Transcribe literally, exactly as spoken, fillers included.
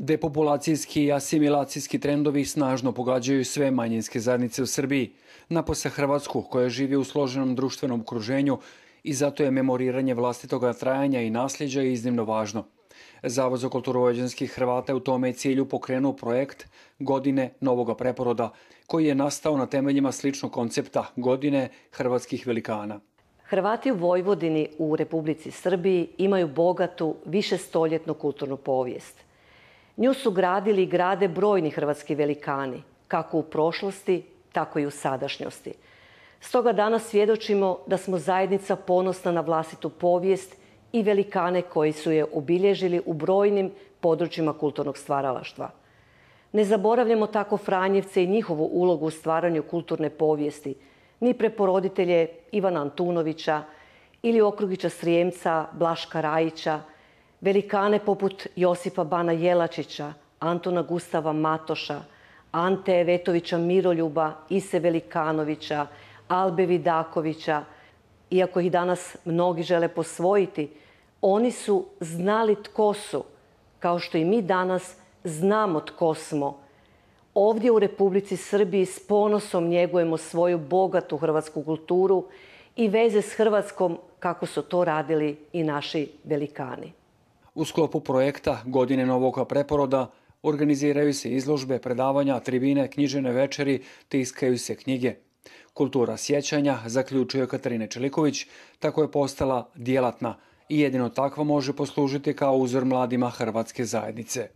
Depopulacijski i asimilacijski trendovi snažno pogađaju sve manjinske zajednice u Srbiji, napose Hrvatsku koja živi u složenom društvenom okruženju i zato je memoriranje vlastitoga trajanja i nasljeđa iznimno važno. Zavod za kulturu vojvođanskih Hrvata je u tome cilju pokrenuo projekt Godine novoga preporoda, koji je nastao na temeljima sličnog koncepta Godine hrvatskih velikana. Hrvati u Vojvodini u Republici Srbiji imaju bogatu višestoljetnu kulturnu povijest. Nju su gradili i grade brojni hrvatski velikani, kako u prošlosti, tako i u sadašnjosti. Stoga danas svjedočimo da smo zajednica ponosna na vlastitu povijest i velikane koji su je obilježili u brojnim područjima kulturnog stvaralaštva. Ne zaboravljamo tako Franjevce i njihovu ulogu u stvaranju kulturne povijesti, ni preporoditelje Ivana Antunovića ili Okrugića Srijemca, Blaška Rajića, velikane poput Josipa Bana Jelačića, Antuna Gustava Matoša, Ante Vetovića Miroljuba, Ise Velikanovića, Albe Vidakovića. Iako ih danas mnogi žele posvojiti, oni su znali tko su, kao što i mi danas znamo tko smo. Ovdje u Republici Srbiji s ponosom njegujemo svoju bogatu hrvatsku kulturu i veze s Hrvatskom kako su to radili i naši velikani. U sklopu projekta Godine novoga preporoda organiziraju se izložbe, predavanja, tribine, književne večeri, tiskaju se knjige. Kultura sjećanja, zaključuje Katarina Čeliković, tako je postala djelatna i jedino takva može poslužiti kao uzor mladima hrvatske zajednice.